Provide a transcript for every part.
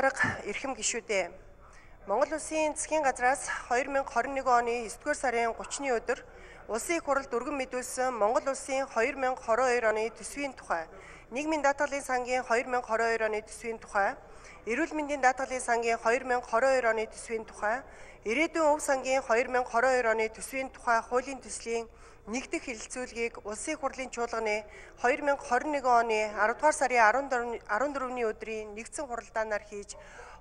Дарга эрхэм гишүүдээ. Монгол Улсын засгийн газраас 2021 оны 9-р сарын 30-ны өдөр Улсын их хурлд өргөн мэдүүлсэн Монгол Улсын 2022 оны төсвийн тухай, нийгмийн даатгалын сангийн 2022 оны төсвийн тухай, эрүүл мэндийн даатгалын сангийн 2022 оны төсвийн тухай, ирээдүйн өв сангийн 2022 оны төсвийн тухай хуулийн төслийн нэгдэх хэлэлцүүлгийг Улсын их хурлын чуулганы 2021 оны 10-р сарын 14-ний өдрийн нэгдсэн хуралдаанаар хийж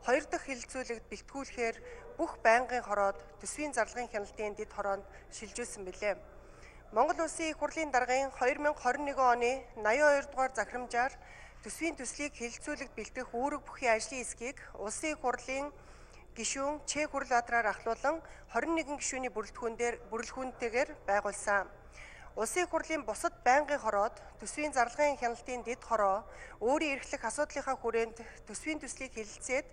2 дахь хэлэлцүүлэгт бэлтгүүлэхээр бүх байнгын хороод төсвийн зарлагын хяналтын дэд хороонд шилжүүлсэн билээ. Монгол Улсын их хурлын даргын 2021 оны 82 дугаар захирамжаар төсвийн төслийг хэлэлцүүлэгт бэлтгэх үүрэг бүхий ажлын хэсгийг Улсын их хурлын гишүүн Чэ Хүрлбаатараар ахлуулан 21 гишүүний бүрэлдэхүүнтэйгээр байгуулсан. Улсын их хурлын бусад байнгын хороод төсвийн зарлагын хяналтын дэд хороо өөрийн эрхлэх асуудлынхаа хүрээнд төсвийн төслийг хэлэлцээд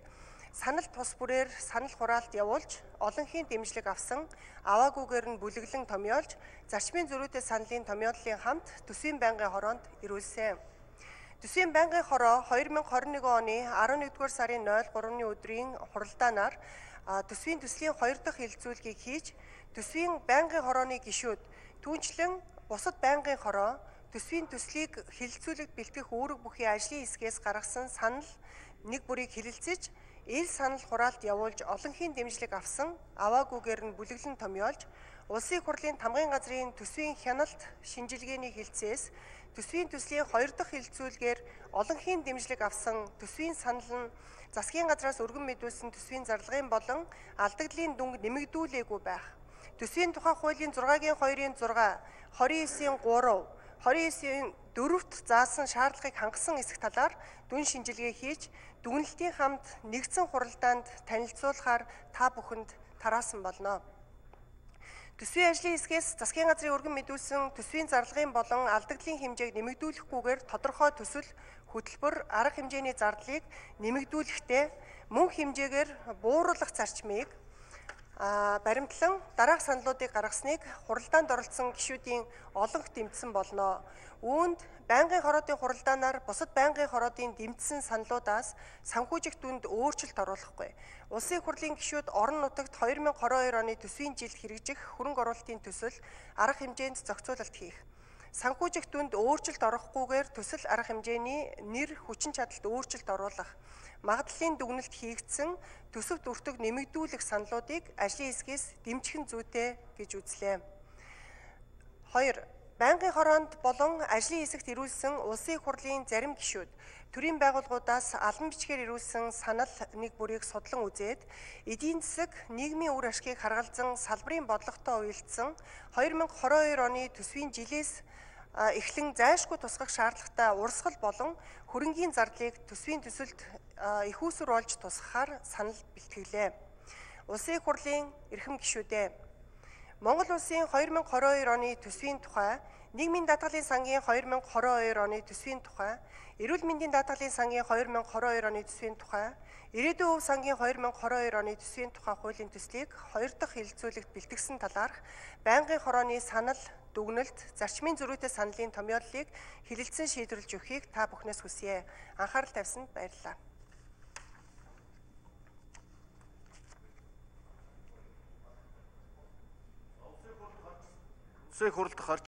санал тус бүрээр санал хураалт явуулж олонхын дэмжлэг авсан аваагүйгээр нь бүлэглэн томьёолж зарчмын зөрүүтэй саналын томьёоллын хамт төсвийн байнгын хороонд ирүүлсэн. Төсвийн байнгын хороо 2021 оны 11-р сарын 03-ны өдрийн хуралдаанаар төсвийн төслийн 2 дахь хэлэлцүүлгийг хийж төсвийн байнгын хорооны гишүүд түүнчлэн бусад байнгын хороо төсвийн төслийг хэлэлцүүлэгт бэлтгэх үүрэг бүхий ажлын хэсгээс гаргасан санал нэг бүрийг хэлэлцэж ил санал хураалт явуулж олонхын дэмжлэг авсан аваагүйгээр нь бүлэглэн томьёолж Улсын их хурлын тамгын газрын төсвийн хяналт шинжилгээний хэлцээс төсвийн төслийн 2 дахь хэлэлцүүлгээр олонхын дэмжлэг авсан төсвийн санал нь засгийн газраас өргөн мэдүүлсэн төсвийн зарлагын болон алдагдлын дүнг нэмэгдүүлээгүй байх. Төсвийн тухай хуулийн 6-гийн 2-ын 6, 29-ийн 3, 29-ийн 4-т заасан шаардлагыг хангасан эсэх талаар дүн шинжилгээ хийж дүгнэлтийн хамт нэгдсэн хуралдаанд танилцуулахаар та бүхэнд тараасан болно. Төсвийн ажлын хэсгээс засгийн газрын өргөн мэдүүлсэн төсвийн зарлагын болон алдагдлын хэмжээг нэмэгдүүлэхгүйгээр тодорхой төсөл, хөтөлбөр, арга хэмжээний зардлыг нэмэгдүүлэхдээ мөн хэмжээгээр бууруулах зарчмыг баримтлан дараах саналуудыг гаргасныг хуралдаанд оролцсон гишүүдийн олонх дэмжсэн болно. Үүнд байнгын хороодын хуралдаанаар бусад байнгын хороодын дэмжсэн саналуудаас санхүүжих дүнд өөрчлөлт оруулахгүй. Улсын их хурлын гишүүд орон нутагт 2022 оны төсвийн жилд хэрэгжих хөрөнгө оруулалтын төсөл, арга хэмжээнд зохицуулалт хийх. Санхүүжих дүнд өөрчлөлт орохгүйгээр төсөл арга хэмжээний нэр хүчин чадалд өөрчлөлт оруулах. Магадлалын дүгнэлт хийгдсэн төсөвт өртөг нэмэгдүүлэх саналуудыг ажлын хэсгээс дэмжих нь зүйтэй гэж үзлээ. 2. Байнгын хороонд болон ажлын хэсэгт ирүүлсэн Улсын их хурлын зарим гишүүд төрийн байгууллагуудаас албан бичгээр ирүүлсэн санал нэг бүрийг судлан үзээд эдийн засаг, нийгмийн үр ашгийг харгалзан салбарын бодлоготой уялдсан 2022 оны төсвийн жилээс эхлэн зайлшгүй тусгах шаардлагатай урсгал болон хөрөнгийн зардлыг төсвийн төсөлд их усүр олж тусгахаар санал бэлтгэлээ. Улсын их хурлын эрхэм гишүүдээ. Монгол Улсын 2022 оны төсвийн тухай, нийгмийн даатгалын сангийн 2022 оны төсвийн тухай, эрүүл мэндийн даатгалын сангийн 2022 оны төсвийн тухай, ирээдүйн өв сангийн 2022 оны төсвийн тухай хуулийн төслийг 2 дахь хэлэлцүүлэгт бэлтгэсэн талаарх байнгын хорооны санал, дүгнэлт, зарчмын зөрүүтэй саналын томьёоллыг хэлэлцэн шийдвэрлэж өгөхийг та бүхнээс хүсье. Анхаарал тавьсанд баярлалаа. Улсын их хурлд гарч